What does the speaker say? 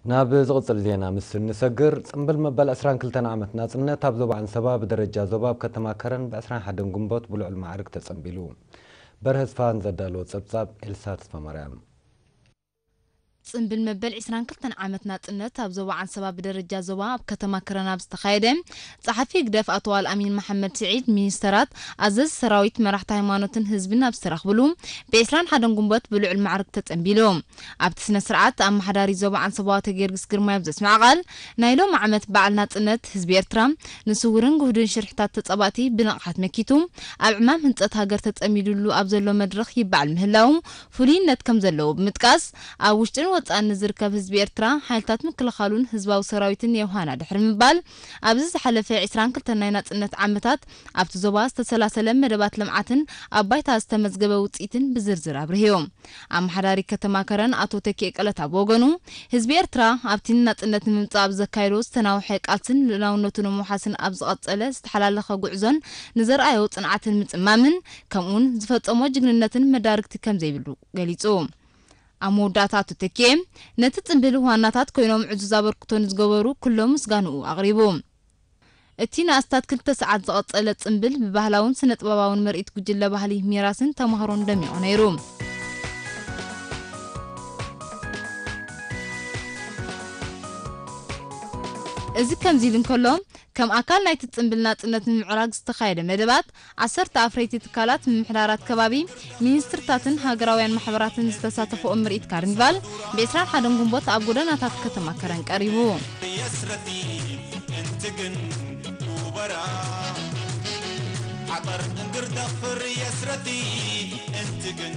ናብ ዝቕጽል ዜና ምስ እንሰግር፣ ጽምብል መበል ዕስራን ክልተን ዓመት ናጽነት ኣብ ዞባ ዓንሰባ ብደረጃ ዞባ ኣብ ከተማ ከረን ብ ዕስራን ሓደን ግንቦት ብልዑል ማዕርግ ተጸንቢሉ። በርሀ ስፋን ዘዳለዎ ጸብጻብ ኤልሳ ተስፋማርያም። ጽምብል መበል ዕስራን ክልተን ዓመት ናጽነት ኣብ ዞባ ዓንሰባ ብደረጃ ዞባ ኣብ ከተማ ከረን ኣብ ዝተኻየደ፣ ጸሓፊ ህግደፍ ኣቶ ኣልኣሚን መሓመድ ስዒድ፣ ሚኒስተራት፣ ኣዘዝቲ ሰራዊት፣ መራሕቲ ሃይማኖትን ህዝብን ኣብ ዝተረኽብሉ፣ ብ ዕስራን ሓደን ግንቦት ብልዑል ማዕርግ ተጸንቢሉ። ኣብቲ ስነ ስርዓት፣ ኣመሓዳሪ ዞባ ዓንሰባ ኣቶ ጊዮርጊስ ግርማይ ኣብ ዘስምዐ ቃል፣ ናይ ሎም ዓመት በዓል ናጽነት ህዝቢ ኤርትራ ንስውርን ግሁድን ሽርሕታት ተጻባእቲ ብንቕሓት መኪቱ፣ ኣብ ዕማም ህንጸት ሃገር ተጸሚዱሉ ኣብ ዘሎ መድረኽ ይበዓል ምህላዉ ፍሉይነት ከም ዘለዎ ብምጥቃስ፣ ኣብ ውሽጥን ወጻእን ንዝርከብ ህዝቢ ኤርትራ፣ ሓይልታት ምክልኻሉን ህዝባዊ ሰራዊትን የውሃና ድሕሪ ምባል፣ ኣብዚ ዝሓለፈ ዕስራን ክልተን ናይ ናጽነት ዓመታት ኣብቲ ዞባ ዝተሰላሰለ መደባት ልምዓትን ኣብ ባይታ ዝተመዝገበ ውጽኢትን ብዝርዝር ኣብርህዮ። ኣመሓዳሪ ከተማ ከረን ኣቶ ተኪኤ ቀለታ ብወገኑ፣ ህዝቢ ኤርትራ ኣብቲ ንናጽነት ንምምጻእ ኣብ ዘካየዶ ዝተናውሐ ቃልስን ልኡላውነቱ ንምውሓስን ኣብ ዝቐጸለ ዝተሓላለኸ ጉዕዞን ንዘርኣዮ ጽንዓትን ምጽማምን፣ ከምኡውን ዝፈጸሞ ጅግንነትን መዳርግቲ ከም ዘይብሉ ገሊጹ። ኣብ መወዳእታ ኣቶ ተኪኤ፣ ነቲ ጽምብል ዋናታት ኮይኖም ዕዙዝ ኣበርክቶ ንዝገበሩ ኩሎም ምስጋንኡ ኣቕሪቡ። እቲ ንኣስታት ክልተ ሰዓት ዝቐጸለ ጽምብል ብባህላውን ስነ-ጥበባውን ምርኢት ጉጅለ ባህሊ ሚራስን ተማሃሮን ደሚቑ ነይሩ። እዚ ከምዚ ኢሉ እንከሎ፣ ከም ኣካል ናይቲ ጽምብል ናጽነት ንምዕራግ ዝተኻየደ መደባት፣ ዓሰርተ ኣፍረይቲ ትካላት ምምሕዳራት ከባቢ፣ ሚኒስትርታትን ሃገራውያን ማሕበራትን ዝተሳተፈኦ ምርኢት ካርኒቫል፣ ብ ዕስራን ሓደን ግንቦት ኣብ ጎደናታት ከተማ ከረን ቀሪቡ። يسرتي انت جن وبرا عطر انقر دفر يسرتي انت جن